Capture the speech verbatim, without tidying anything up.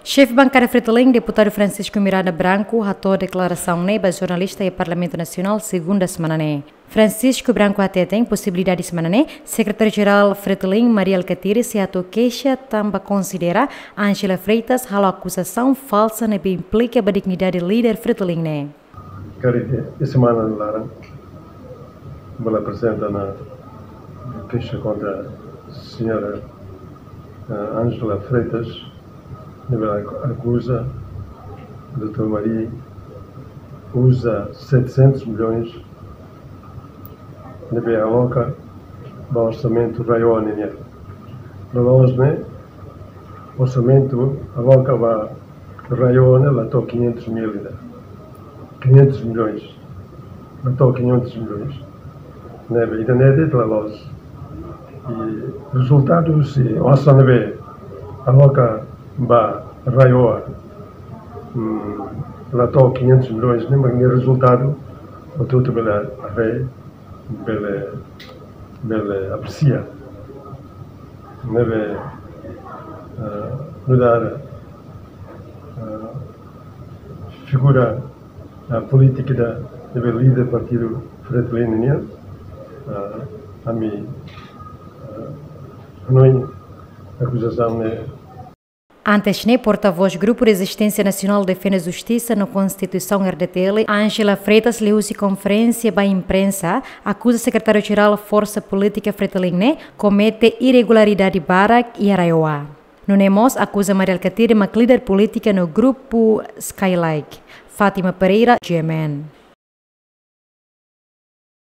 Xefe bankada Fretilin, deputadu Francisco Miranda Branco, hato'o deklarasaun ne'e ba jornalista iha Parlamentu Nasionál, segunda semana ne'e. Francisco Branco hateten posibilidade semana ne'e, Sekretáriu-Jerál Fretilin, Mari Alkatiri, sei hato'o keixa tanba konsidera Ángela Freitas halo akuzasaun falsa ne'ebé implika ba dignidade líder Fretilin ne'e. Karik esta semana laran, bele aprezenta ona keixa kontra señora, eh, Ángela Freitas, ne'ebé akuza doutór Mari uza setecentos milhões ne'ebé aloka ba orsamentu RAEOA nian. Loloos ne'e, orsamentu aloka ba RAEOA ne'e la to'o quinhentos mil ida. Quinhentos milhões. La to'o quinhentos milhões. Ne'ebé ida-ne'e de'it la loos. I rezultadu, se osan ne'ebé aloka ba RAEOA, mm, la to'o quinhentos milhões, ne'e mak nia rezultadu, hotu-hotu bele haree, bele, bele apresia. Ne'ebé, eh, nu'udar, eh, figura, eh, polítika ida ne'ebé líder partidu Fretilin nian, eh, ami, eh, hanoin akuzasaun ne'e. Antes ne'e, portavós Grupu Rezisténsia Nasionál Defende Justisa no Konstituisaun, R D T L, Ángela Freitas, liuhusi konferénsia ba imprensa, akuza Sekretáriu-Jerál Forsa Polítika Fretilin ne'e komete irregularidade barak iha RAEOA. Nune'e mós akuza Mari Alkatiri mak líder polítika no grupu Skylake. Fátima Pereira, G M N.